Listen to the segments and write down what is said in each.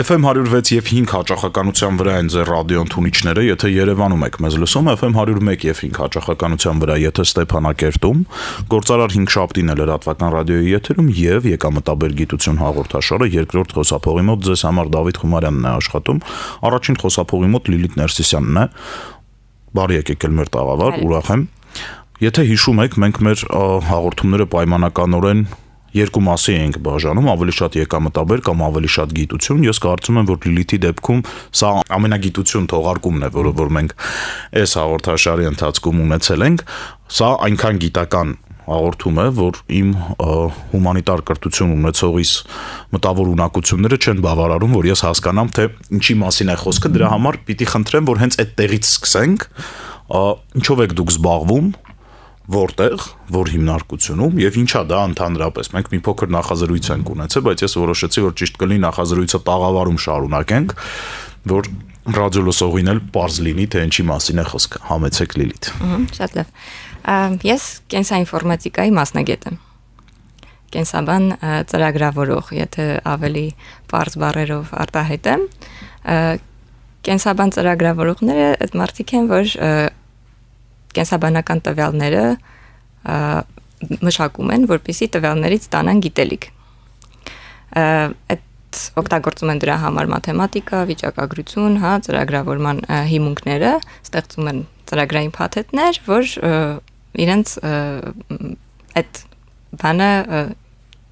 FM 106 եւ 5 հաճախականության վրա են ձեր ռադիո ընդունիչները, եթե Երևանում եք մեզ լսում, FM 101 եւ 5 հաճախականության վրա, եթե Ստեփանակերտում, Գործարար 5 շաբթին է լրատվական ռադիոյի եթերում եւ Եկամտաբեր գիտություն հաղորդաշարը երկրորդ խոսափողի մոտ ձեզ համար Դավիթ Խումարյանն է աշխատում, առաջին խոսափողի մոտ Լիլիթ Ներսիսյանն է։ Բարի եկեք ել մեր տաղավար, ուրախ եմ։ Եթե հիշում եք, մենք մեր հաղորդումները պայմանականորեն երկու մասի ենք բաժանում, ավելի շատ եկամտաբեր կամ ավելի շատ գիտություն։ Ես կարծում եմ, որ Լիլիթի դեպքում սա ամենագիտություն թողարկումն է, որը որ մենք այս հաղորդաշարի ընթացքում ունեցել ենք։ Սա այնքան գիտական հաղորդում է, որ իմ հումանիտար կրթություն ունեցողիս մտավոր ունակությունները չեն բավարարում, որ ես հասկանամ, թե ինչի մասին է խոսքը։ Դրա համար պիտի խնդրեմ, որ հենց այդ տեղից սկսենք։ Ինչով եք դուք զբաղվում, որտեղ, որ հիմնարկությունում եւ ինչա դա ընդհանրապես։ Մենք մի փոքր նախազրույց ենք ունեցել, բայց ես որոշեցի, որ ճիշտ կլինի նախազրույցը տաղավարում շարունակենք, որ ռադիո լսողին էլ պարզ լինի, թե ինչի մասին է խոսքը։ Համեցեք Լիլիթ։ Շատ լավ։ Ես կենսաինֆորմատիկայի մասնագետ եմ։ Կենսաբան ծրագրավորող, եթե ավելի պարզ բառերով արտահայտեմ, կենսաբան ծրագրավորողները այդ մարդիկ են, որ կենսաբանական տվյալները մշակում են, որպեսզի տվյալներից ստանան գիտելիք։ Այդ օգտագործում են դրա համար մաթեմատիկա, վիճակագրություն, ծրագրավորման հիմունքները, ստեղծում են ծրագրային փաթեթներ, որ իրենց այդ բանը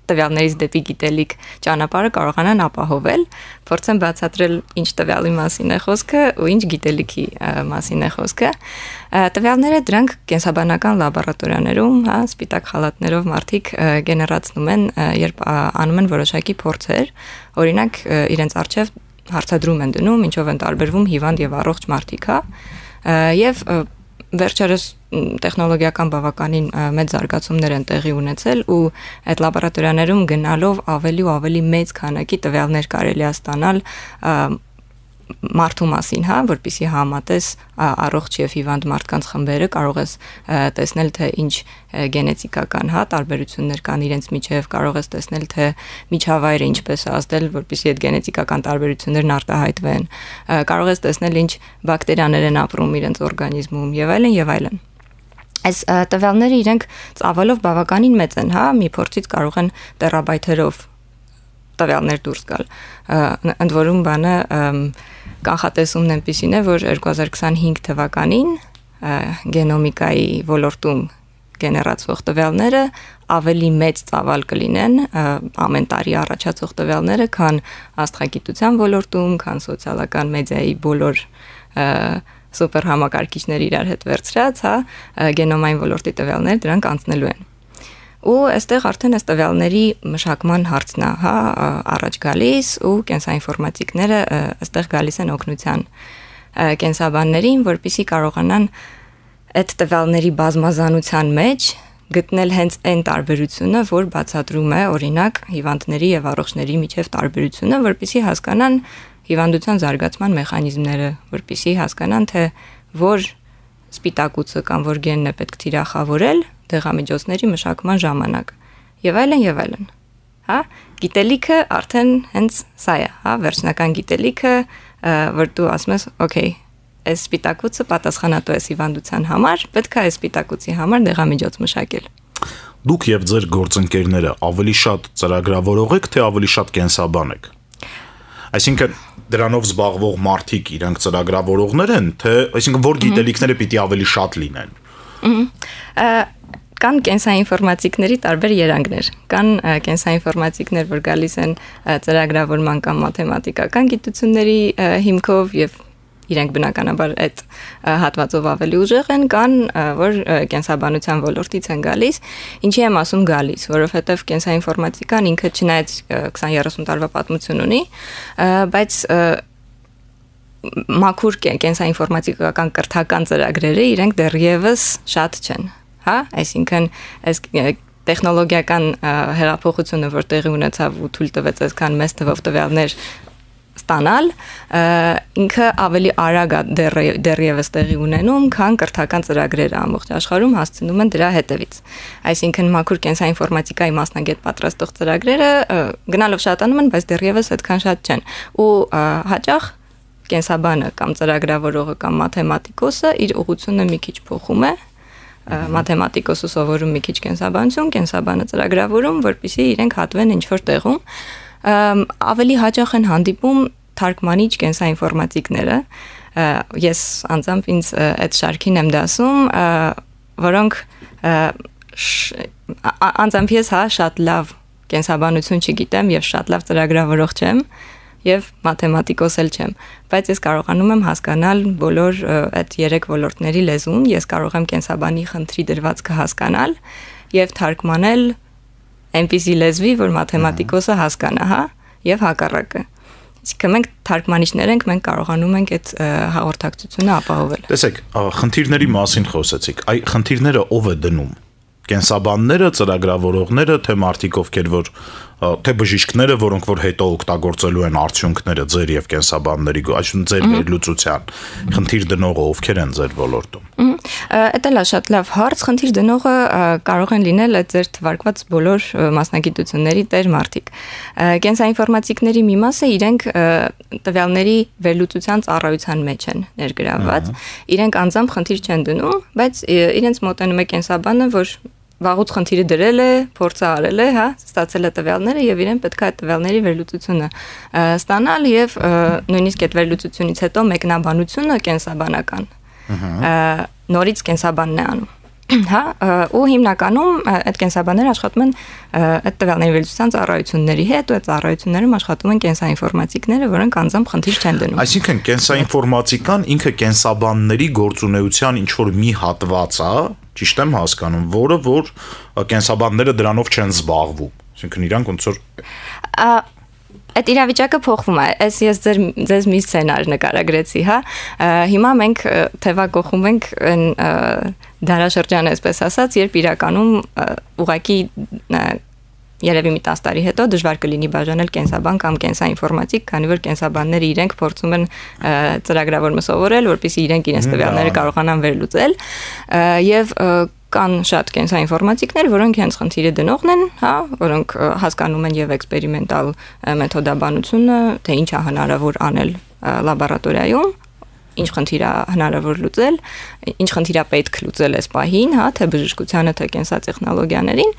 տվյալներից դեպի գիտելիք ճանապարհը կարողանան ապահովել, փորձեն բացատրել ինչ տվյալի մասին է խոսքը ու ինչ գիտելիքի մասին է խոսքը։ Տվյալները դրանք կենսաբանական լաբորատորիաներում, սպիտակ խալաթներով մարդիկ գեներացնում են, երբ անում են որոշակի փորձեր, օրինակ իրենց առջև հարցադրում են դնում, ինչով են տարբերվում հիվանդ եւ առողջ մարդիկ, եւ վերջերս տեխնոլոգիական բավականին մեծ զարգացումներ են տեղի ունեցել ու այդ լաբորատորիաներում գնալով ավելի ու ավելի մեծ քանակի տվյալներ կարելի է ստանալ մարդու մասին, որպեսզի համատես առողջ եւ հիվանդ մարդկանց խմբերը կարող ես տեսնել, թե ինչ գենետիկական տարբերություններ կան իրենց միջև, կարող ես տեսնել, թե միջավայրը ինչպես է ազդել, որպեսզի այդ գենետիկական տարբերություններն արտահայտվեն, կարող ես տեսնել ինչ բակտերիաներ են ապրում իրենց օրգանիզմում եւ այլն եւ այլն։ Այս տվյալները իրենք ծավալով բավականին մեծ են, մի փորձից կարող են տերաբայթերով տվյալներ դուրս գալ։ Ընդ որում բանը կանխատեսումն այնպիսին է, որ 2025 թվականին գենոմիկայի ոլորտում գեներացվող տվյալները ավելի մեծ ծավալ կլինեն, ամեն տարի առաջացող տվյալները, քան աստղագիտության ոլորտում, քան սոցիալական մեդիայի բոլոր սուպեր համակարգիչներ իրար հետ վերցրած, գենոմային ոլորտի տվյալներ դրանք անցնելու են։ Ու այստեղ արդեն այս տվյալների մշակման հարցն է, առաջ գալիս ու կենսաինֆորմատիկները այստեղ գալիս են օգնության կենսաբաններին, որպեսզի կարողանան այդ տվյալների բազմազանության մեջ գտնել հենց այն տարբերությունը, որ բացատրում է օրինակ հիվանդների եւ առողջների միջև տարբերությունը, որպեսզի հասկանան հիվանդության զարգացման մեխանիզմները, որպեսզի հասկանան, թե որ սպիտակուցը կամ որ գենն է պետք թիրախավորել դեղամիջոցների մշակման ժամանակ եւ այլն եւ այլն։ Գիտելիքը արդեն հենց սա է, վերջնական գիտելիքը, որ դու ասում ես, օքեյ, այս սպիտակուցը պատասխանատու է հիվանդության համար, պետք է այս սպիտակուցի համար դեղամիջոց մշակել։ Դուք եւ ձեր գործընկերները ավելի շատ ծրագրավորող եք, թե ավելի շատ կենսաբան եք։ Այսինքն դրանով զբաղվող մարդիկ իրենք ծրագրավորողներ են, թե այսինքն որ գիտելիքները պիտի ավելի շատ լինեն։ Կան կենսաինֆորմատիկների տարբեր երանգներ, կան կենսաինֆորմատիկներ, որ գալիս են ծրագրավորման կամ մաթեմատիկական գիտությունների հիմքով եւ իրենք բնականաբար այդ հատվածով ավելի ուժեղ են, կան որ կենսաբանության ոլորտից են գալիս, ինչի եմ ասում գալիս, որովհետեւ կենսաինֆորմատիկան ինքը չնայած 20-30 տարվա պատմություն ունի, բայց մաքուր կենսաինֆորմատիկական կրթական ծրագրերը իրենք դեռևս շատ չեն, այսինքն այս տեխնոլոգիական հեղափոխությունը, որ տեղի ունեցավ ու թույլ տվեց այսքան մեծ թվով տվյալներ ստանալ, ինքը ավելի արագ է դեռևս տեղի ունենում, քան կրթական ծրագրերը ամբողջ աշխարհում հասցնում են դրա հետևից։ Այսինքն մաքուր կենսաինֆորմատիկայի մասնագետ պատրաստող ծրագրերը գնալով շատանում են, բայց դեռևս այդքան շատ չեն։ Ու հաճախ կենսաբանը կամ ծրագրավորողը կամ մաթեմատիկոսը իր ուղղությունը մի քիչ փոխում է, մաթեմատիկոսը սովորում մի քիչ կենսաբանություն, կենսաբանը ծրագրավորում, որպեսզի իրենք հատվեն ինչ-որ տեղում։ Ավելի հաճախ են հանդիպում թարգմանիչ կենսաինֆորմատիկները, ես անձամբ ինձ այդ շարքին եմ դասում, որոնք անձամբ ես շատ լավ կենսաբանություն չգիտեմ եւ շատ լավ ծրագրավորող չեմ եւ մաթեմատիկոս էլ չեմ, բայց ես կարողանում եմ հասկանալ բոլոր այդ 3 ոլորտների լեզուն, ես կարող եմ կենսաբանի խնդրի դրվածքը հասկանալ եւ թարգմանել այնպիսի լեզվի, որ մաթեմատիկոսը հասկանա, հա, եւ հակառակը։ Իսկ մենք թարգմանիչներ ենք, մենք կարողանում ենք այդ հաղորդակցությունը ապահովել։ Տեսեք, խնդիրների մասին խոսեցիք։ Այ խնդիրները ով է դնում։ Կենսաբանները, ծրագրավորողները, թե մարդիկ ովքեր որ թե բժիշկները, որոնք որ հետո օգտագործելու են արդյունքները ձեր եւ կենսաբանների, այսինքն ձեր վերլուծության, խնդիր դնողը ովքեր են ձեր ոլորտում։ Դա լա շատ լավ հարց, խնդիր դնողը կարող են լինել այդ ձեր թվարկված բոլոր մասնագիտությունների տեր մարդիկ։ Կենսաինֆորմատիկների մի մասը իրենք տվյալների վերլուծության ծառայության մեջ են ներգրավված, իրենք անձամբ խնդիր չեն դնում, բայց իրենց մոտենում է կենսաբանը, որ վաղուց խնդիրը դրել է, փորձը արել է, հա, ստացել է տվյալները եւ իրեն պետք է այդ տվյալների վերլուծությունը ստանալ եւ նույնիսկ այդ վերլուծությունից հետո մեկնաբանությունը կենսաբանական։ Նորից կենսաբանն է անում։ Հա, ու հիմնականում այդ կենսաբանները աշխատում են այդ տվյալների վերլուծության ծառայությունների հետ, ու այդ ծառայություններում աշխատում են կենսաինֆորմատիկները, որոնք անձամբ խնդիր չեն դնում։ Այսինքն կենսաինֆորմատիկան ինքը կենսաբանների գործունեության ինչ որ մի հատված է, ճիշտ եմ հասկանում, որը որ կենսաբանները դրանով չեն զբաղվում։ Այսինքն իրանք ոնց որ այդ իրավիճակը փոխվում է։ Ես ձեզ մի սցենար նկարագրեցի, հա։ Հիմա մենք թևակողում ենք այն դարաշրջանը, այսպես ասած, երբ իրականում ուղղակի երևի մի 10 տարի հետո դժվար կլինի բաժանել կենսաբան կամ կենսաինֆորմատիկ, քանի որ կենսաբանները իրենք փորձում են ծրագրավորումը սովորել, որպեսզի իրենք իրենց տվյալները կարողանան վերլուծել, եւ կան շատ կենսաինֆորմատիկներ, որոնք հենց խնդիրը դնողն են, հա, որոնք հասկանում են եւ էքսպերիմենտալ մեթոդաբանությունը, թե ինչ է հնարավոր անել լաբորատորիայում, ինչ խնդիր է հնարավոր լուծել, ինչ խնդիր է պետք լուծել այս պահին, հա, թե բժշկությանը, թե կենսատեխնոլոգիաներին,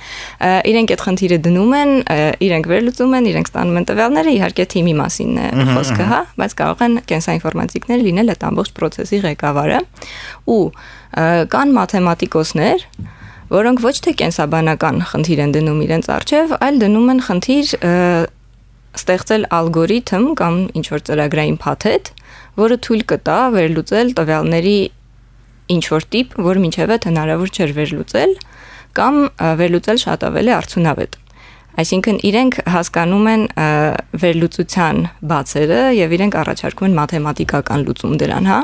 իրենք այդ խնդիրը դնում են, իրենք վերլուծում են, իրենք ստանում են տվյալները, իհարկե թիմի մասին է խոսքը, հա, բայց կարող են կենսաինֆորմատիկներ լինել այդ ամբողջ process-ի ղեկավարը, ու կան մաթեմատիկոսներ, որոնք ոչ թե կենսաբանական խնդիր են դնում իրենց առջև, այլ դնում են խնդիր ստեղծել ալգորիթմ կամ ինչ-որ ծրագրային փաթեթ, որը թույլ կտա վերլուծել տվյալների ինչ-որ տիպ, որ մինչև այդ հնարավոր չէր վերլուծել, կամ վերլուծել շատ ավելի արդյունավետ։ Այսինքն իրենք հասկանում են վերլուծության բացերը եւ իրենք առաջարկում են մաթեմատիկական լուծում դրան, հա։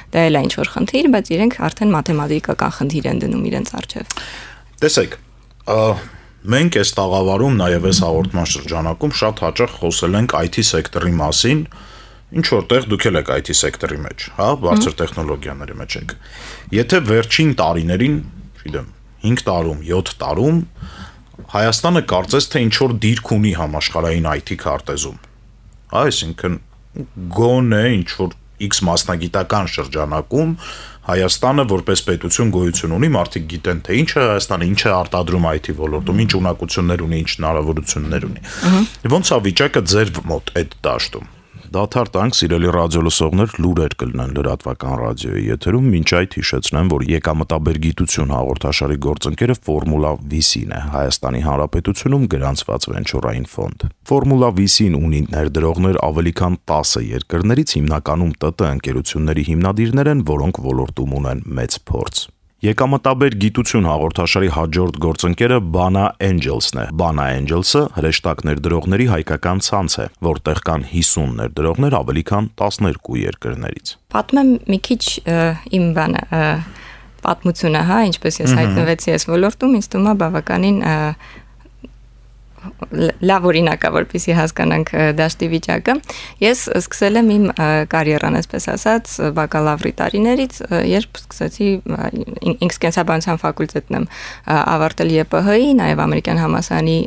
Դա էլ է ինչ-որ խնդիր, բայց իրենք արդեն մաթեմատիկական խնդիր են դնում իրենց առջև։ Տեսեք, մենք այս տաղավարում նաև այս հաղորդման շրջանակում շատ հաճախ խոսել ենք IT սեկտորի մասին, ինչ որտեղ դուք եք IT սեկտորի մեջ, հա, բարձր տեխնոլոգիաների մեջ եք։ Եթե վերջին տարիներին, չգիտեմ, 5 տարում, 7 տարում Հայաստանը կարծես թե ինչ որ դիրք ունի համաշխարհային IT քարտեզում։ Այսինքն գոնե ինչ որ X մասնագիտական շրջանակում Հայաստանը որպես պետություն գոյություն ունի, մարդիկ գիտեն թե ինչ է Հայաստանը, ինչ է արտադրում IT ոլորտում, ինչ ունակություններ ունի, ինչ հնարավորություններ ունի։ Ոնց է վիճակը ձեր մոտ այդ դաշտում։ Դադար տանք, սիրելի ռադիոլսողներ, լուրեր կլինեն լրատվական ռադիոյի եթերում, մինչ այդ հիշեցնեմ, որ եկամտաբեր գիտություն հաղորդաշարի գործընկերը Ֆորմուլա VC-ն է, Հայաստանի Հանրապետությունում գրանցված վենչուրային ֆոնդ։ Ֆորմուլա VC-ն ունի ներդրողներ ավելի քան 10 երկրներից, հիմնականում ՏՏ ընկերությունների հիմնադիրներ են, որոնք ոլորտում ունեն մեծ փորձ։ Եկամտաբեր գիտություն հաղորդաշարի հաջորդ գործընկերը Bana Angels-ն է։ Bana Angels-ը հրեշտակ ներդրողների հայկական ցանց է, որտեղ կան 50 ներդրողներ ավելի քան 12 երկրներից։ Պատմեմ մի քիչ իմ բանը պատմությունը, հա, ինչպես ես հայտնվեցի այս ոլորտում, ինձ թվում է բավականին լավ օրինակա, որպեսզի հասկանանք դաշտի վիճակը։ Ես սկսել եմ իմ կարիերան, այսպես ասած, բակալավրի տարիներից, երբ սկսեցի ինքս կենսաբանության ֆակուլտետն եմ ավարտել ԵՊՀ-ի, նաև ամերիկյան համալսարանի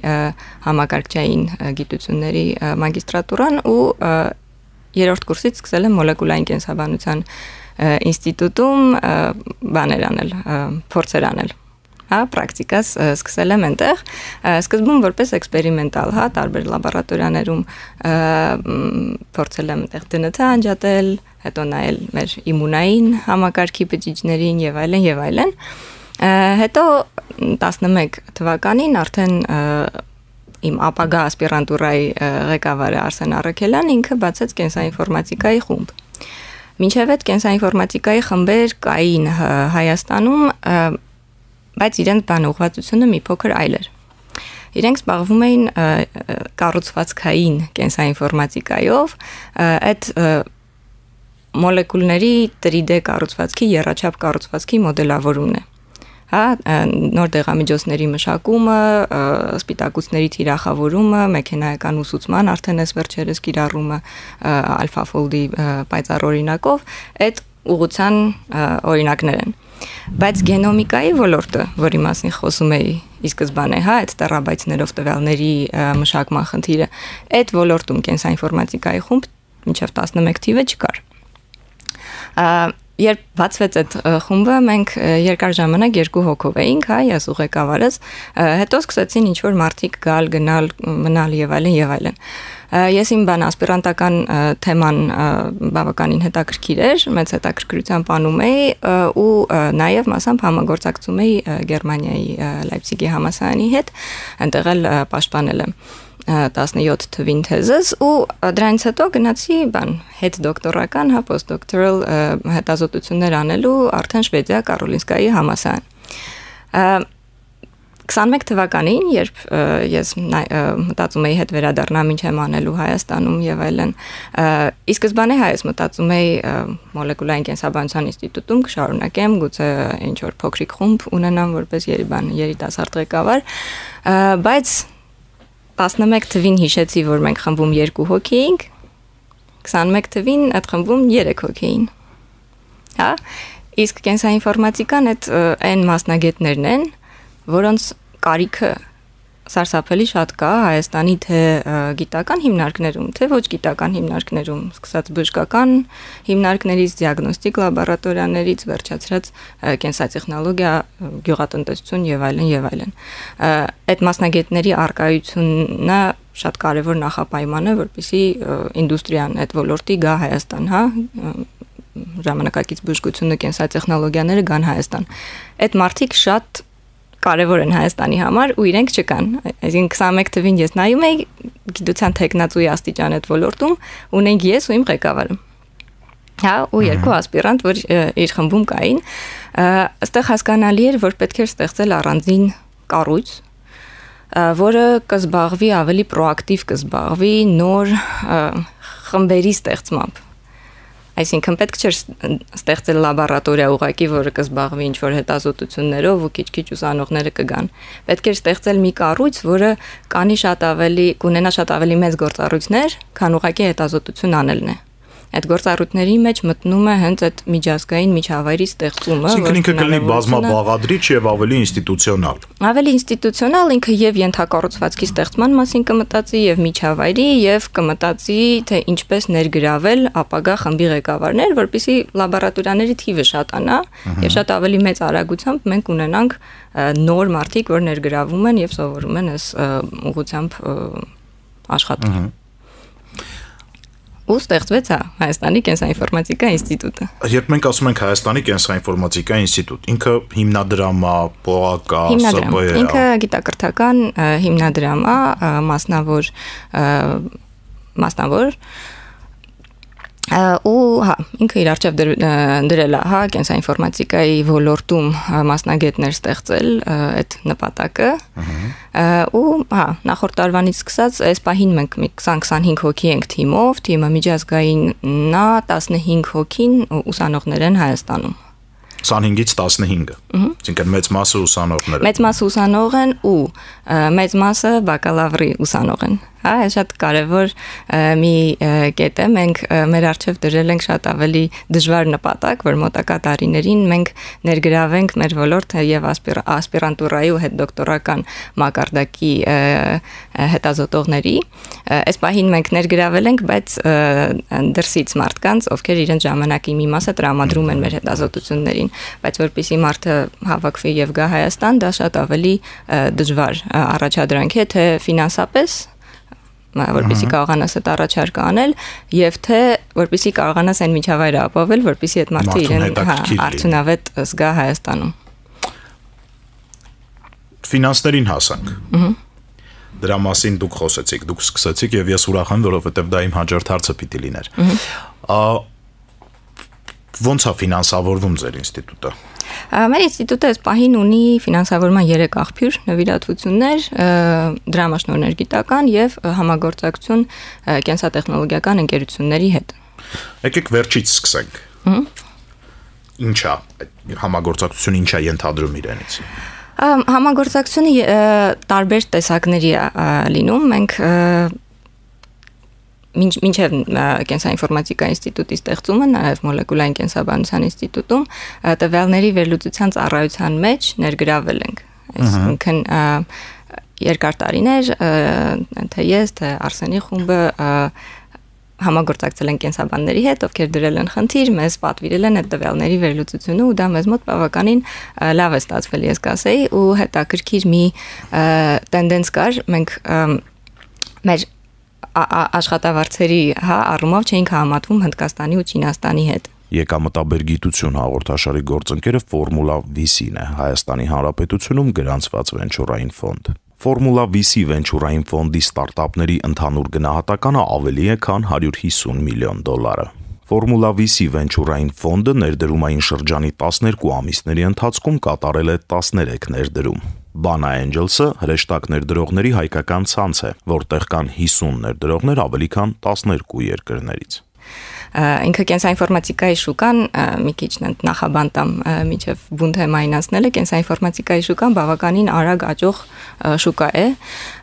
համակարգչային գիտությունների մագիստրատուրան ու երրորդ կուրսից սկսել եմ մոլեկուլային կենսաբանության ինստիտուտում բաներ անել, փորձեր անել։ Հա, պրակտիկաս սկսել եմ այնտեղ, սկզբում որպես էքսպերիմենտալ, հա, տարբեր լաբորատորիաներում փորձել եմ այնտեղ ԴՆԹ անջատել, հետո նայել մեր իմունային համակարգի բջիջներին եւ այլն եւ այլն։ Հետո 11 թվականին արդեն իմ ապագա ասպիրանտուրայի ղեկավարը Արսեն Առաքելյան ինքը բացեց կենսաինֆորմատիկայի խումբ։ Մինչև այդ կենսաինֆորմատիկայի խմբեր կային Հայաստանում, բայց իրենց բանուղղվածությունը մի փոքր այլ էր։ Իրենք զբաղվում էին կառուցվածքային կենսաինֆորմատիկայով, այդ մոլեկուլների 3D կառուցվածքի, եռաչափ կառուցվածքի մոդելավորումն է։ Հա, նոր դեղամիջոցների մշակումը, սպիտակուցների թիրախավորումը, մեքենայական ուսուցման արդեն այս վերջերս կիրառումը AlphaFold-ի պայծառ օրինակով, այդ ուղղության օրինակներ են։ Բայց գենոմիկայի ոլորտը, որի մասին խոսում էի ի սկզբանե, հա, այդ տերաբայթներով տվյալների մշակման խնդիրը, այդ ոլորտում կենսաինֆորմատիկայի խումբ մինչև 11 թիվը չկար։ Երբ բացվեց այդ խումբը, մենք երկար ժամանակ 2 հոգով էինք, հա, ես ու ղեկավարս, հետո սկսեցին ինչ-որ մարդիկ գալ, գնալ, մնալ եւ այլն եւ այլն։ Ես իմ ասպիրանտական թեման բավականին հետաքրքիր էր, մեծ հետաքրքրությամբ անում էի ու նաեւ մասամբ համագործակցում էի Գերմանիայի Լայպցիգի համալսարանի հետ, այնտեղ էլ պաշտպանել եմ 17 թվին թեզս ու դրանից հետո գնացի հետ դոկտորական, հա, post-doctoral հետազոտություններ անելու արդեն Շվեդիա Կարոլինսկայի համալսարան։ 21 թվականին, երբ ես մտածում էի հետ վերադառնամ ինչ եմ անելու Հայաստանում եւ այլն, ի սկզբանե հայս մտածում էի մոլեկուլային կենսաբանության ինստիտուտում կշարունակեմ, գուցե ինչ որ փոքրիկ խումբ ունենամ որպես երիտասարդ ղեկավար, բայց 11 թվին հիշեցի, որ մենք խմբում 2 հոգի էինք, 21 թվին այդ խմբում 3 հոգի էին։ Հա, իսկ կենսաինֆորմատիկան այն մասնագետներն են, որոնց կարիքը սարսափելի շատ կա Հայաստանի թե գիտական հիմնարկներում, թե ոչ գիտական հիմնարկներում, սկսած բժշկական հիմնարկներից, դիագնոստիկ լաբորատորիաներից, վերջացրած կենսատեխնոլոգիա, գյուղատնտեսություն եւ այլն եւ այլն։ Այդ մասնագետների արկայությունը շատ կարևոր նախապայման է, որպեսզի ինդուստրիան այդ ոլորտի գա Հայաստան, հա, ժամանակակից բժշկությունը, կենսատեխնոլոգիաները գան Հայաստան։ Այդ մարդիկ շատ կարևոր են Հայաստանի համար ու իրենք չկան։ Այսինքն 21 թվին ես նայում էի գիտության տեխնացուի աստիճան այդ ոլորտում ունենք ես ու իմ ղեկավարը։ Հա, ու 2 ասպիրանտ, որ իր խմբում կային, այստեղ հասկանալի էր, որ պետք էր ստեղծել առանձին կառույց, որը կզբաղվի ավելի պրոակտիվ կզբաղվի նոր խմբերի ստեղծմամբ։ Այսինքն պետք չէր ստեղծել լաբորատորիա ուղղակի, որը կզբաղվի ինչ-որ հետազոտություններով ու քիչ-քիչ ուսանողները կգան։ Պետք էր ստեղծել մի կառույց, որը կունենա շատ ավելի մեծ գործառույթներ, քան ուղղակի հետազոտություն անելն է։ Այդ գործառույթների մեջ մտնում է հենց այդ միջազգային միջավայրի ստեղծումը, որը ինքը կլինի բազմաբաղադրիչ եւ ավելի ինստիտուցիոնալ։ Ավելի ինստիտուցիոնալ, ինքը եւ ենթակառուցվածքի ստեղծման մասին կմտածի եւ միջավայրի եւ կմտածի թե ինչպես ներգրավել ապագա խմբի ղեկավարներ, որպեսզի լաբորատորիաների թիվը շատանա եւ շատ ավելի մեծ արագությամբ մենք ունենանք նոր մարդիկ, որ ներգրավում են եւ սովորում են այս ուղղությամբ աշխատել։ Ու ստեղծվեց Հայաստանի կենսաինֆորմատիկա ինստիտուտը։ Երբ մենք ասում ենք Հայաստանի կենսաինֆորմատիկա ինստիտուտ, ինքը հիմնադրամ է, պողակ է, ՍԲ է։ Ինքը գիտակրթական հիմնադրամ է, մասնավոր ու հա, ինքը իր արժև դրել է, հա, կենսաինֆորմատիկայի ոլորտում մասնագետներ ստեղծել այդ նպատակը։ Ու հա, նախորդ տարվանից սկսած այս պահին մենք 20-25 հոգի ենք թիմը միջազգայինն է, 15 հոգին ուսանողներ են Հայաստանում։ 25-ից 15-ը։ Այսինքն մեծ մասը ուսանողներ են։ Մեծ մասը ուսանող են ու մեծ մասը բակալավրի ուսանող են։ Հա, այս շատ կարևոր մի կետ է, մենք մեր առջև դրել ենք շատ ավելի դժվար նպատակ, որ մոտակա տարիներին մենք ներգրավենք մեր ոլորտը եւ ասպիրանտուրայի ու հետդոկտորական մակարդակի հետազոտողների։ Այս պահին մենք ներգրավել ենք, բայց դրսից մարդկանց, ովքեր իրենց ժամանակի մի մասը տրամադրում են մեր հետազոտություններին, բայց որpիսի մարդը հավաքվի եւ գա Հայաստան, դա շատ ավելի դժվար առաջադրանք է, թե ֆինանսապես որպեսզի կարողանաս այդ առաջարկը անել եւ թե որպեսզի կարողանաս այն միջավայրը ապավել, որպեսզի այդ մարդը իրեն արդյունավետ զգա Հայաստանում։ Ֆինանսներին հասանք։ Դրա մասին դուք խոսեցիք, դուք սկսեցիք եւ ես ուրախ եմ, որովհետեւ դա իմ հաջորդ հարցը պիտի լիներ։ Ոնց է ֆինանսավորվում ձեր ինստիտուտը։ Մեր ինստիտուտը այս պահին ունի ֆինանսավորման 3 աղբյուր, նվիրատվություններ, դրամաշնորհներ գիտական եւ համագործակցություն կենսատեխնոլոգիական ընկերությունների հետ։ Եկեք վերջից սկսենք։ Ինչ է համագործակցությունը, ինչ է ենթադրում իրենից։ Համագործակցությունը տարբեր տեսակների է լինում, մենք մինչև կենսաինֆորմատիկա ինստիտուտի ստեղծումը, նաև մոլեկուլային կենսաբանության ինստիտուտում տվյալների վերլուծության ծառայության մեջ ներգրավել ենք։ Այսինքն երկար տարիներ, թե ես, թե Արսենի խումբը համագործակցել են կենսաբանների հետ, ովքեր դրել են խնդիր, մեզ պատվիրել են այդ տվյալների վերլուծությունը ու դա մեզ մոտ բավականին լավ է ստացվել, ես կասեի, ու հետաքրքիր մի տենդենս կար, մենք մեր աշխատավարձերի առումով չէինք համատվում Հնդկաստանի ու Չինաստանի հետ։ Եկամտաբերգիտություն հաղորդաշարի գործընկերը Ֆորմուլա VC-ն է, Հայաստանի Հանրապետությունում գրանցված վենչուրային ֆոնդ։ Ֆորմուլա VC վենչուրային ֆոնդի ստարտափների ընդհանուր գնահատականը ավելի է, քան $150 միլիոն։ Ֆորմուլա VC վենչուրային ֆոնդը ներդրումային շրջանի 12 ամիսների ընթացքում կատարել է 13 ներդրում։ Bana Angels-ը հրեշտակ ներդրողների հայկական ցանց է, որտեղ կան 50 ներդրողներ ավելի քան 12 երկրներից։ Ինքը կենսաինֆորմատիկայի շուկան մի քիչ նախաբանտամ միջև բուն թեմային ասնելը կենսաինֆորմատիկայի շուկան բավականին արագ աճող շուկա է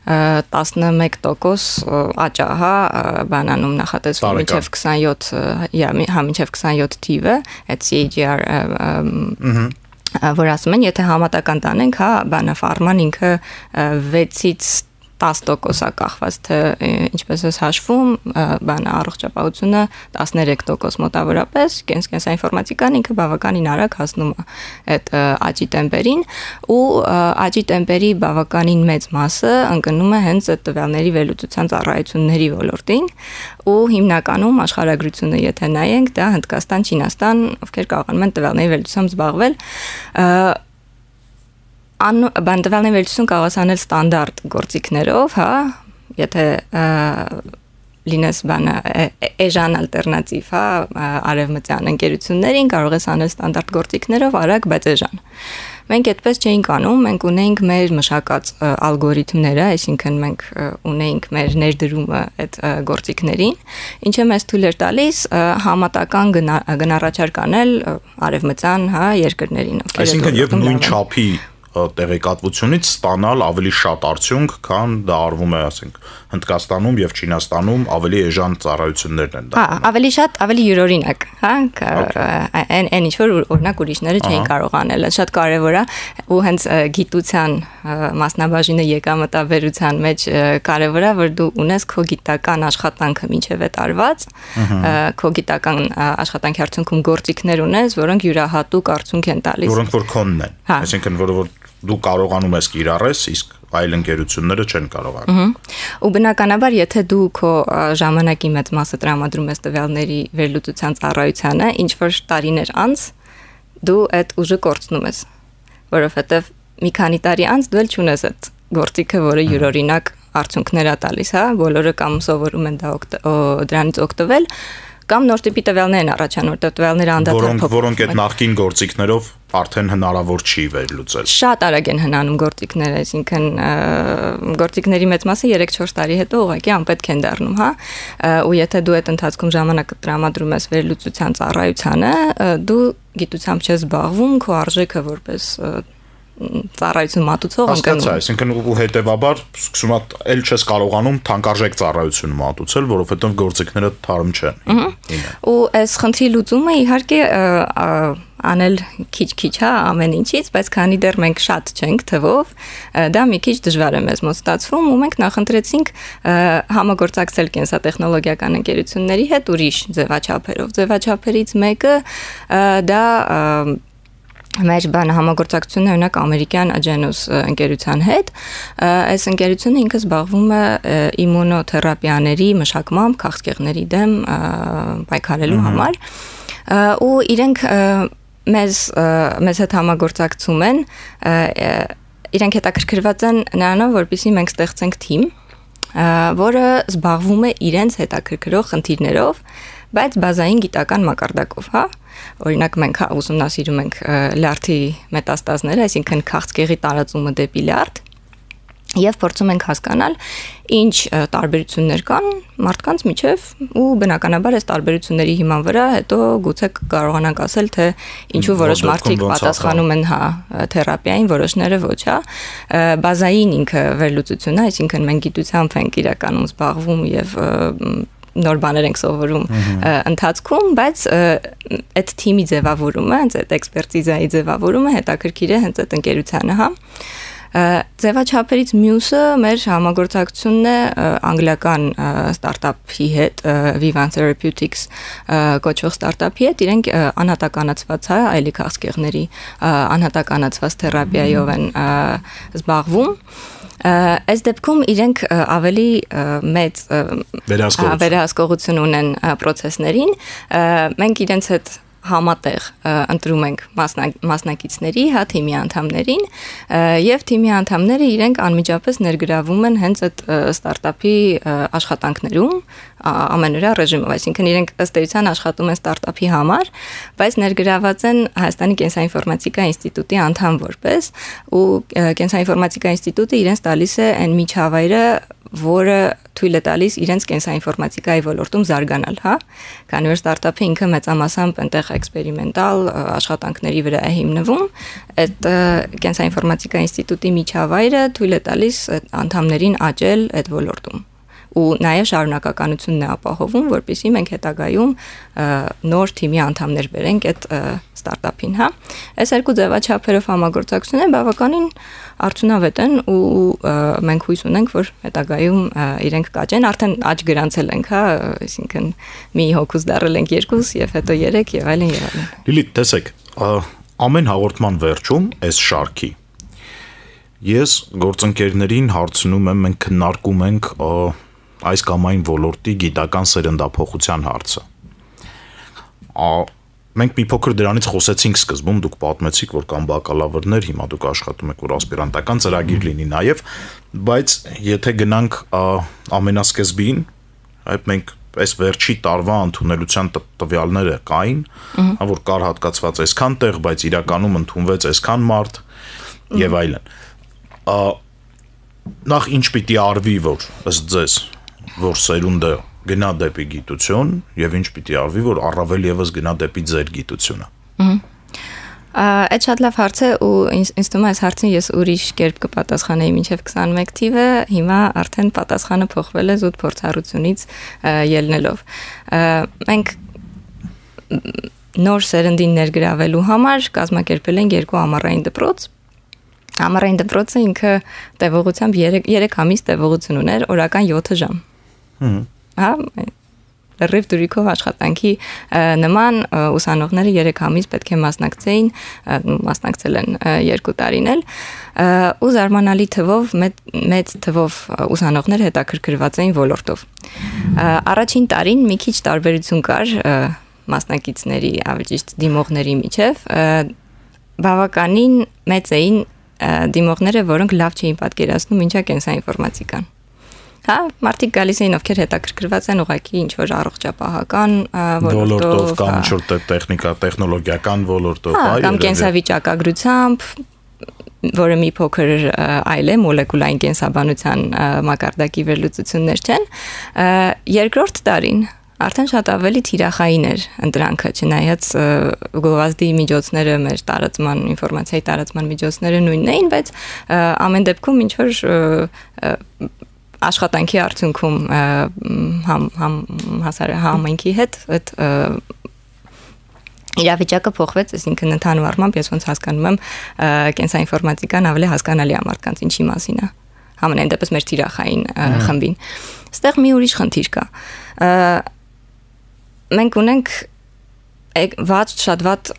11% աճ է բանանում նախատեսվում միջև 27 թիվը այդ CAGR որ ասում են եթե համատական տանենք բանը ֆարման ինքը 6-ից 10% է կախված թե ինչպես է հաշվում բանը առողջապահությունը 13% մոտավորապես կենսաինֆորմատիկան ինքը բավականին արագ հասնում է այդ աճի տեմպերին ու աճի տեմպերի բավականին մեծ մասը ընկնում է հենց այդ տվյալների վերլուծության ծառայությունների ոլորտին ու հիմնականում աշխարհագրությունը եթե նայենք դա Հնդկաստան, Չինաստան, ովքեր կարողանում են տվյալների վերլուծությամբ զբաղվել բանդվալների վերլուծություն կարող է անել ստանդարտ գործիքներով, եթե լինես բանը էժան ալտերնատիվ, արևմտյան ընկերություններին կարող ես անել ստանդարտ գործիքներով, արագ, բայց էժան։ Մենք այդպես չէինք անում, մենք ունեինք մեր մշակած ալգորիթմները, այսինքն մենք ունեինք մեր ներդրումը այդ գործիքներին, ինչը մեզ թույլ էր տալիս համատական գնառաչարկ անել արևմտյան երկրներին։ Այսինքն եւ նույն չափի տեղեկատվությունից ստանալ ավելի շատ արդյունք, քան դա արվում է, ասենք, Հնդկաստանում եւ Չինաստանում ավելի էժան ծառայություններն են դա։ Ավելի շատ, ավելի յուրօրինակ, այն ինչ որ օրինակ ուրիշները չէին կարող անել, շատ կարեւոր է ու հենց գիտության մասնաբաժինը եկամտաբերության մեջ կարեւոր է, որ դու ունես քո գիտական աշխատանքը մինչեւ այդ արված, քո գիտական աշխատանքի արդյունքում գործիքներ ունես, որոնք յուրահատուկ արդյունք են տալիս։ Որոնք որ քոնն են, այսինքն որ դու կարողանում ես կիրառես, իսկ այլ ընկերությունները չեն կարողանում։ Ու բնականաբար, եթե դու քո ժամանակի մեծ մասը տրամադրում ես տվյալների վերլուծության ծառայությանը, ինչ որ տարիներ անց դու այդ ուժը կորցնում ես, որովհետև մի քանի տարի անց դու էլ չունես այդ գործիքը, որը յուրօրինակ արդյունքներ է տալիս, բոլորը կամ սովորում են դրանից օգտվել, Կամ նոր տիպի տվյալներ են առաջանում, որտեղ տվյալները անդադար փոխվում։ Որոնք այդ նախկին գործիքներով արդեն հնարավոր չի վերլուծել։ Շատ արագ են հնանում գործիքները, այսինքն գործիքների մեծ մասը 3-4 տարի հետո ուղղակի անպետք են դառնում, հա։ Ու եթե դու այդ ընթացքում ժամանակը տրամադրում ես վերլուծության ծառայությանը, դու գիտությամբ չես զբաղվում, քո արժեքը որպես ծառայություն մատուցող ընկնում։ Այսինքն ու հետևաբար սկսում էլ չես կարողանում թանկարժեք ծառայություն մատուցել, որովհետև գործիքները թարմ չեն։ Ու այս խնդրի լուծումը իհարկե անել քիչ-քիչ, հա, ամեն ինչից, բայց քանի դեռ մենք շատ չենք թվով, դա մի քիչ դժվար է մեզ մոտ ստացվում ու մենք նախընտրեցինք համագործակցել կենսատեխնոլոգիական ընկերությունների հետ ուրիշ ձևաչափերով։ Ձևաչափերից մեկը դա մեր համագործակցությունը օրինակ ամերիկյան Agenus ընկերության հետ, այս ընկերությունը ինքը զբաղվում է իմունոթերապիաների մշակմամբ քաղցկեղների դեմ պայքարելու համար ու իրենք մեզ հետ համագործակցում են, իրենք հետաքրքրված են նրանով, որպեսզի մենք ստեղծենք թիմ, որը զբաղվում է իրենց հետաքրքրող խնդիրներով, բայց բազային գիտական մակարդակով, հա։ Օրինակ մենք ուսումնասիրում ենք լյարդի մետաստազները, այսինքն քաղցկեղի տարածումը դեպի լյարդ, եւ փորձում ենք հասկանալ ինչ տարբերություններ կան մարդկանց միջև ու բնականաբար այս տարբերությունների հիման վրա հետո գուցե կարողանանք ասել թե ինչու որոշ մարդիկ պատասխանում են հա թերապիային, որոշները ոչ, հա։ Բազային ինքը վերլուծությունն է, այսինքն մենք գիտությամբ ենք իրականում զբաղվում եւ նոր բաներ ենք սովորում ընթացքում, բայց այդ թիմի ձևավորումը, այդ էքսպերտիզայի ձևավորումը հետաքրքիր է հենց այդ ընկերությանը, հա։ Ձևաչափերից մյուսը մեր համագործակցությունն է անգլիական ստարտափի հետ, Vivant Therapeutics կոչվող ստարտափի հետ, իրենք անհատականացված է այլի քաղցկեղների անհատականացված թերապիայով են զբաղվում։ Այս դեպքում իրենք ավելի մեծ վերահսկողություն ունեն process-ներին, մենք իրենց հետ համատեղ ընտրում ենք մասնակիցների, հա, թիմի անդամներին եւ թիմի անդամները իրենք անմիջապես ներգրավում են հենց այդ ստարտափի աշխատանքներում ամենօրյա ռեժիմով, այսինքն իրենք ըստ էության աշխատում են ստարտափի համար, բայց ներգրաված են Հայաստանի կենսաինֆորմատիկա ինստիտուտի անդամ որպես ու կենսաինֆորմատիկա ինստիտուտը իրենց տալիս է այն միջավայրը, որը թույլ է տալիս իրենց կենսաինֆորմատիկայի ոլորտում զարգանալ, հա, քանի որ ստարտափը ինքը մեծամասամբ այնտեղ էքսպերիմենտալ աշխատանքների վրա է հիմնվում, այդ կենսաինֆորմատիկա ինստիտուտի միջավայրը թույլ է տալիս անդամներին աճել այդ ոլորտում ու նաև շարունակականությունն է ապահովում, որպեսզի մենք հետագայում նոր թիմի անդամներ բերենք այդ ստարտափին, հա։ Այս երկու ձևաչափերով համագործակցությունը բավականին արդյունավետ են ու մենք հույս ունենք, որ հետագայում իրենք կաճեն, արդեն աճ գրանցել ենք, հա, այսինքն մի հոգուց դարել ենք 2 եւ հետո 3 եւ այլն եւ այլն։ Լիլիթ, տեսեք, ամեն հաղորդման վերջում այս շարքի ես գործընկերներին հարցնում եմ, մենք քննարկում ենք այս կամ այն ոլորտի գիտական սերնդափոխության հարցը։ Մենք մի փոքր դրանից խոսեցինք սկզբում, դուք պատմեցիք, որ կան բակալավրներ, հիմա դուք աշխատում եք, որ ասպիրանտական ծրագիր լինի նաև, բայց եթե գնանք ամենասկզբին, այդ մենք այս վերջի տարվա ընդունելության տվյալները կային, որ կար հատկացված այսքան տեղ, բայց իրականում ընդունվեց այսքան մարդ եւ այլն։ Նախ ինչ պիտի արվի, որ ըստ ձեզ որ սերունդը գնա դեպի գիտություն եւ ինչ պիտի արվի, որ առավել եւս գնա դեպի ձեր գիտությունը։ Այդ շատ լավ հարց է ու ինձ թվում է այս հարցին ես ուրիշ կերպ կպատասխանեի մինչև 21 թիվը, հիմա արդեն պատասխանը փոխվել է զուտ փորձառությունից ելնելով։ Մենք նոր սերնդին ներգրավելու համար կազմակերպել ենք 2 ամառային դպրոց։ Ամառային դպրոցը ինքը տևողությամբ 3 ամիս տևողություն ուներ, օրական 7 ժամ։ Հա, լրիվ դուրիքով աշխատանքի նման ուսանողները 3 ամիս պետք է մասնակցել են 2 տարին էլ ու զարմանալի թվով մեծ թվով ուսանողներ հետաքրքրված էին ոլորտով։ Առաջին տարին մի քիչ տարբերություն կար մասնակիցների, ավելի ճիշտ դիմողների միջև, բավականին մեծ էին դիմողները, որոնք լավ չէին պատկերացնում ինչա կենսաինֆորմատիկան։ Հա, մարդիկ գալիս էին, ովքեր հետաքրքրված են ուղղակի ինչ-որ առողջապահական ոլորտով կամ ինչ-որ տեխնիկա, տեխնոլոգիական ոլորտով, կամ կենսավիճակագրությամբ, որը մի փոքր այլ է, մոլեկուլային կենսաբանության մակարդակի վերլուծություններ չեն, երկրորդ տարին արդեն շատ ավելի թիրախային էր ընտրանքը, չնայած գովազդի միջոցները, մեր տարածման, ինֆորմացիայի տարածման միջոցները նույնն էին, բայց ամեն դեպքում ինչ-որ աշխատանքի արդյունքում համայնքի հետ այդ իրավիճակը փոխվեց, այսինքն ընդհանուր առմամբ ես ոնց հասկանում եմ կենսաինֆորմատիկան ավելի հասկանալի է մարդկանց ինչի մասին է համենայն դեպս մեր թիրախային խմբին այստեղ մի ուրիշ խնդիր կա մենք ունենք շատ վատ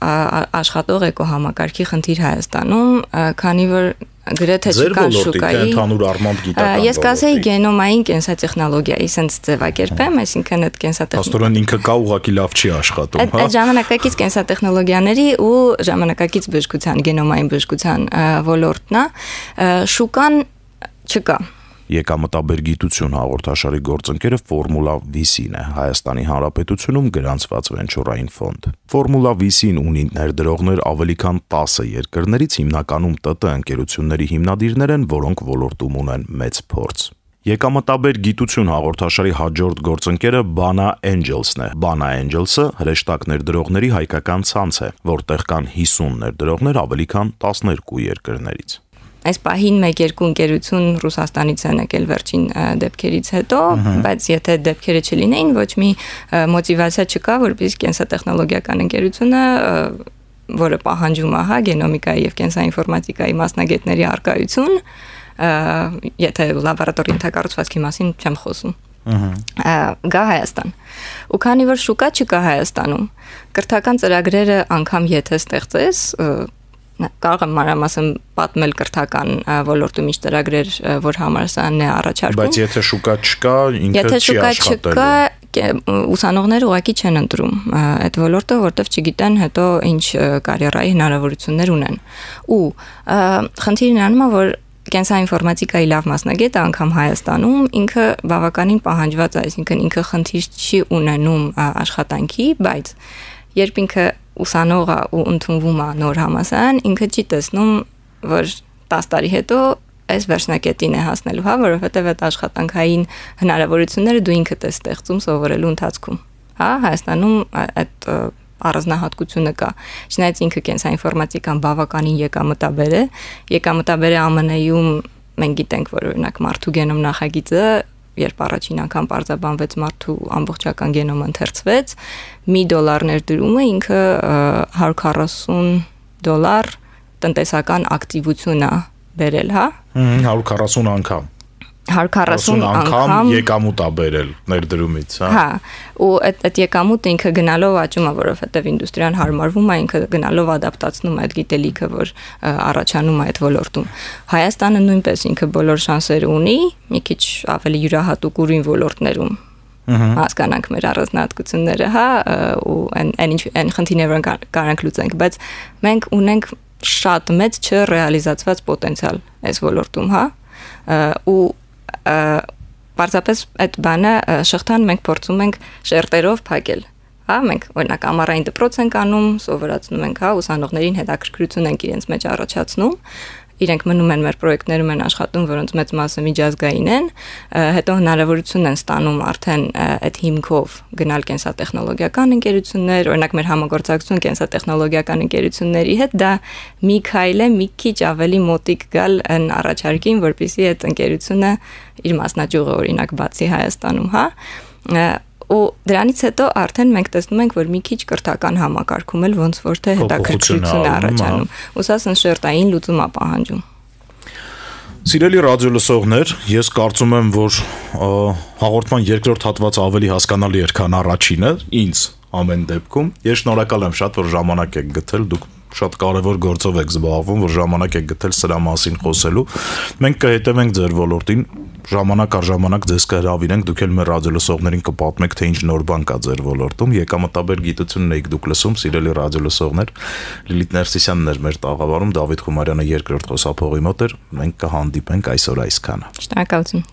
աշխատող էկոհամակարգի խնդիր Հայաստանում, քանի որ գրեթե չկան շուկայի։ Ընդհանուր առմամբ գիտական։ Ես կասեի գենոմային կենսատեխնոլոգիայի, sense ձևակերպեմ, այսինքն այդ կենսատեխնոլոգիան ինքը կա ուղղակի լավ չի աշխատում, հա։ Այդ ժամանակակից կենսատեխնոլոգիաների ու ժամանակակից բժշկության, գենոմային բժշկության ոլորտն է, շուկան չկա։ Եկամտաբեր գիտություն հաղորդաշարի գործընկերը Ֆորմուլա VC-ն է Հայաստանի Հանրապետությունում գրանցված վենչուրային ֆոնդ։ Ֆորմուլա VC-ն ունի ներդրողներ ավելի քան 10 երկրներից, հիմնականում ՏՏ ընկերությունների հիմնադիրներ են, որոնք ոլորտում ունեն մեծ փորձ։ Եկամտաբեր գիտություն հաղորդաշարի հաջորդ գործընկերը Bana Angels-ն է։ Bana Angels-ը հրեշտակ ներդրողների հայկական ցանց է, որտեղ կան 50 ներդրողներ ավելի քան 12 երկրներից։ Այս պահին 1-2 ընկերություն Ռուսաստանից են եկել վերջին դեպքերից հետո, բայց եթե դեպքերը չլինեին, ոչ մի մոտիվացիա չկա, որպեսզի կենսատեխնոլոգիական ընկերությունը, որը պահանջում է, հա, գենոմիկայի եւ կենսաինֆորմատիկայի մասնագետների առկայություն, եթե լաբորատորի ենթակառուցվածքի մասին չեմ խոսում։ Գա Հայաստան։ Ու քանի որ շուկա չկա Հայաստանում, կրթական ծրագրերը անգամ եթե ստեղծես, կարող եմ մանրամասն պատմել կրթական ոլորտում ինչ ծրագրեր, որ համալսարանն է առաջարկում։ Բայց եթե շուկա չկա, ինքը չի աշխատելու։ Եթե շուկա չկա, ուսանողները ուղղակի չեն ընտրում այդ ոլորտը, որտեղ չգիտեն հետո ինչ կարիերայի հնարավորություններ ունեն։ Ու խնդիրն անում է, որ կենսաինֆորմատիկայի լավ մասնագետը անգամ Հայաստանում ինքը բավականին պահանջված է, այսինքն ինքը խնդիր չի ունենում աշխատանքի, բայց երբ ինքը ուսանողը ու ընդունվում է նոր համալսարան, ինքը չի տեսնում, որ 10 տարի հետո այս վերջնակետին է հասնելու, հա, որովհետև այդ աշխատանքային հնարավորությունները դու ինքդ ես ստեղծում սովորելու ընթացքում։ Հա, Հայաստանում այդ առանձնահատկությունը կա։ Չնայած ինքը կենսաինֆորմատիկան բավականին եկամտաբեր է, եկամտաբերը ԱՄՆ-ում մենք գիտենք, որ օրինակ մարդու գենոմ նախագիծը երբ առաջին անգամ պարզաբանվեց մարդու ամբողջական գենոմը ընթերցվեց, $1 ներդրումը ինքը $140 տնտեսական ակտիվություն է բերել, հա? 140 անգամ։ 140 անգամ եկամուտ է բերել ներդրումից, հա։ Հա, ու այդ եկամուտը ինքը գնալով աճում է, որովհետև ինդուստրիան հարմարվում է, ինքը գնալով ադապտացնում է այդ գիտելիքը, որ առաջանում է այդ ոլորտում։ Հայաստանը նույնպես ինքը բոլոր շանսերը ունի, մի քիչ ավելի յուրահատուկ ուրույն ոլորտներում հասկանանք մեր առանձնահատկությունները, հա, ու այն խնդիրները, որ կարանք լուծենք, բայց մենք ունենք շատ մեծ չռեալիզացված պոտենցիալ այս ոլորտում, հա, ու պարզապես այդ բանը շղթան մենք փորձում ենք շերտերով փակել, հա, մենք օրինակ ամառային դպրոց ենք անում, սովորացնում ենք, հա, ուսանողներին հետաքրքրություն ենք իրենց մեջ առաջացնում, իրենք մնում են մեր պրոյեկտներում են աշխատում, որոնց մեծ մասը միջազգային են, հետո հնարավորություն են ստանում արդեն այդ հիմքով գնալ կենսատեխնոլոգիական ընկերություններ, օրինակ մեր համագործակցություն կենսատեխնոլոգիական ընկերությունների հետ, դա մի քայլ է, մի քիչ ավելի մոտիկ գալ այն առաջարկին, որպեսզի այդ ընկերությունը իր մասնաճյուղը օրինակ բացի Հայաստանում, հա, ու դրանից հետո արդեն մենք տեսնում ենք, որ մի քիչ կրթական համակարգում էլ ոնց որ թե հետաքրքրություն է առաջանում։ Ու սա շերտային լուծում է պահանջում։ Սիրելի ռադիո լսողներ, ես կարծում եմ, որ հաղորդման երկրորդ հատվածը ավելի հասկանալի էր, քան առաջինը, ինձ ամեն դեպքում։ Ես շնորհակալ եմ շատ, որ ժամանակ եք գտել, դուք շատ կարևոր գործով եք զբաղվում, որ ժամանակ եք գտել սրա մասին խոսելու։ Մենք կհետևենք ձեր ոլորտին, ժամանակ առ ժամանակ ձեզ կհրավիրենք, դուք էլ մեր ռադիո լսողներին կպատմեք, թե ինչ նոր բան կա ձեր ոլորտում։ Եկամտաբեր գիտությունն եք դուք լսում, սիրելի ռադիո լսողներ։ Լիլիթ Ներսիսյանն էր մեր տաղավարում, Դավիթ Խումարյանը երկրորդ խոսափողի մոտ էր։ Մենք կհանդիպենք այսօր այսքանը։ Շնորհակալություն։